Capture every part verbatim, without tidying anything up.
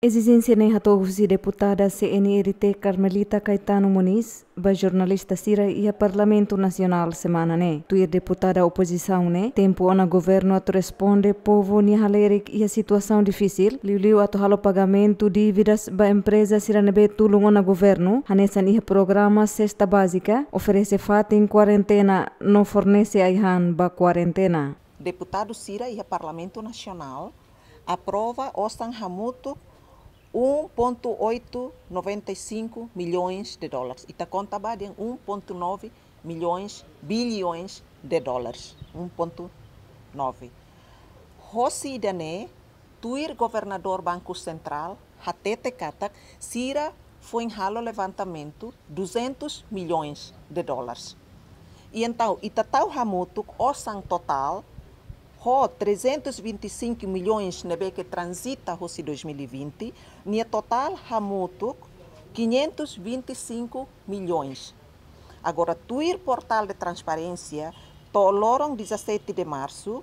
Ezijénsia ne'e hato'o husi deputada C N R T Carmelita Caetano Moniz ba jornalista sira iha Parlamentu Nasionál semana ne'e. Tuir deputada opozisaun ne'e, tempu ona governu atu responde povu nia halerik iha situasaun difisil, liuliu atu halo pagamentu dívidas ba empreza sira ne'ebé tulun ona governu, hanesan iha programa Sesta Bázika, oferese fatin kuarentena no fornese ai-han ba kuarentena. Deputadu sira iha Parlamentu Nasionál aprova osan hamutuk um ponto oito noventa e cinco milhões de dólares. Ita konta ba dehan um ponto nove milhões, bilhões de dólares. Um ponto nove. Hosi ida-ne'e, tuir governadór Banku Sentrál hatete katak sira foin halo levantamentu duzentos milhões de dólares. I entaun, ita tau hamutuk osan totál ho trezentos e vinte e cinco milhões ne'ebé ke transita hosi dois mil e vinte, nia totál hamutuk quinhentos e vinte e cinco milhões. Agora, tuir portál de transparénsia, to'o loron dezassete de março,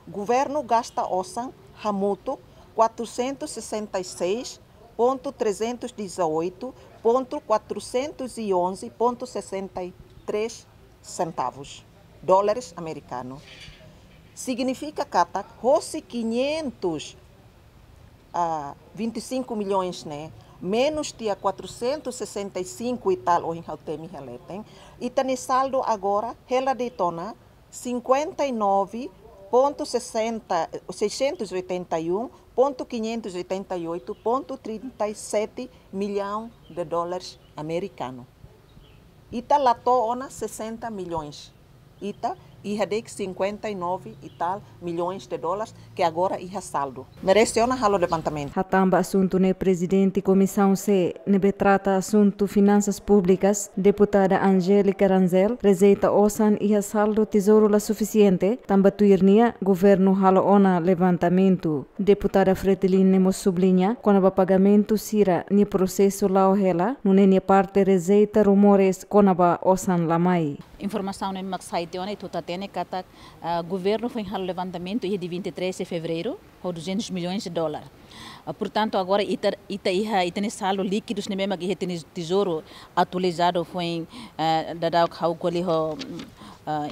governu gasta osan hamutuk quatrocentos e sessenta e seis ponto trezentos e dezoito ponto quatrocentos e onze ponto sessenta e três centavos, dólares americano. Signifika katak hosi quinhentos, ah, vinte e cinco milhões ne'e, menus tiha quatrocentos e sessenta e cinco e tal, ohin ha'u temi iha leten, ita-nia saldu agora hela de'it ona cinquenta e nove ponto sessenta, seiscentos e oitenta e um ponto quinhentos e oitenta e oito ponto trinta e sete milhão de dólares americano. Ita la to'o ona sessenta milhões. Ita iha de'it cinquenta e nove e tal milhões de dólares ke agora iha saldu. Merese ona halo levantamentu. Hatán ba asuntu ne'e, prezidente Komisaun C ne'ebé trata asuntu finansas públikas, deputada Angélica Rangel, rejeita osan iha saldu tezouru la sufisiente, tanba tuir nia governu halo ona levantamentu. Deputada Fretilin ne'e mós subliña kona-ba pagamentu sira-nia prosesu la'o hela, nune'e nia parte rejeita rumores kona-ba osan la mai. Informasaun ne'e mak sai tiha ona, ita hatene katak, ah, governu foin halo levantamentu iha dia vinte e três de fevereiro, ho duzentos milhões de dólares. Ah, portantu, agora ita, ita iha, ita-nia saldu líkidus ne'ebé mak iha ita-nia tezouru atualizadu foin, ah, daudaun ha'u ko'alia ho, ah,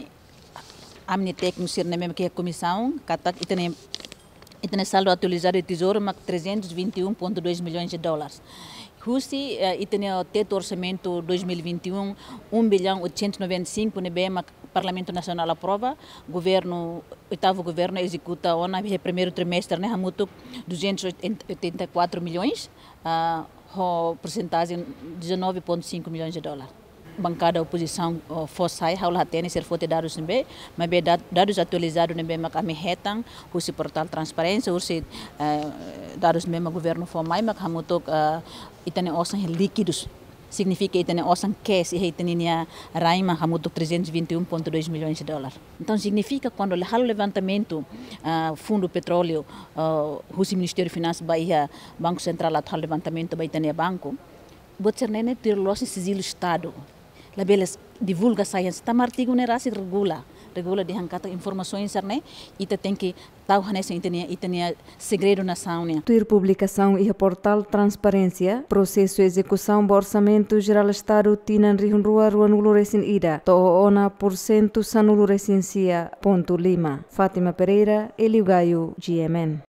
ami-nia tékniku sira ne'ebé mak iha komisaun, katak ita-nia, ita-nia saldu atualizadu iha tezouru mak trezentos e vinte e um ponto dois milhões de dólares. Husi, eh, ita-nia tetu orsamentu dois mil e vinte e um, um bilhão oitocentos e noventa e cinco ne'ebé mak Parlamentu Nasionál aprova, governu, oitavu governu ezekuta ona iha primeiru trimestre ne'e hamutuk duzentos e oitenta e quatro milhões, ah, ho persentajen dezanove ponto cinco milhões de dólares. Bankada opozisaun, oh, fó sai, ha'u la hatene se sira foti dadus ne'ebé, maibé da-, dadus atualizadu ne'ebé mak ami hetan husi portál transparénsia, husi, eh, dadus ne'ebé mak governu fó mai, mak hamutuk, eh, ita-nia osan líkidus. Signifika ita-nia osan cash iha ita-nia rain mak hamutuk trezentos e vinte e um ponto dois milhões de dólares. Entaun, signifika kuandu halo levantamentu, ah, Fundu Petróleu, ah, husi Ministériu Finansas ba iha Banku Sentrál atu halo levantamentu ba ita-nia banku, buat sira-ne'e tuir loos nia sijilu Estadu. Labele divulga sai hanesan, tanba artigu ne'e rasik regula. Regula dehan katak informasaun sira-ne'e ita tenke tau hanesan ita-nia, ita-nia segredu nasaun nian. Tuir publikasaun iha portál transparénsia, prosesu ezekusaun ba Orsamentu Jerál Estadu tinan rihun rua ruanulu resin ida to'o ona pursentu sanulu resin sia pontu lima. Fátima Pereira, Hélio Gaio, G M N.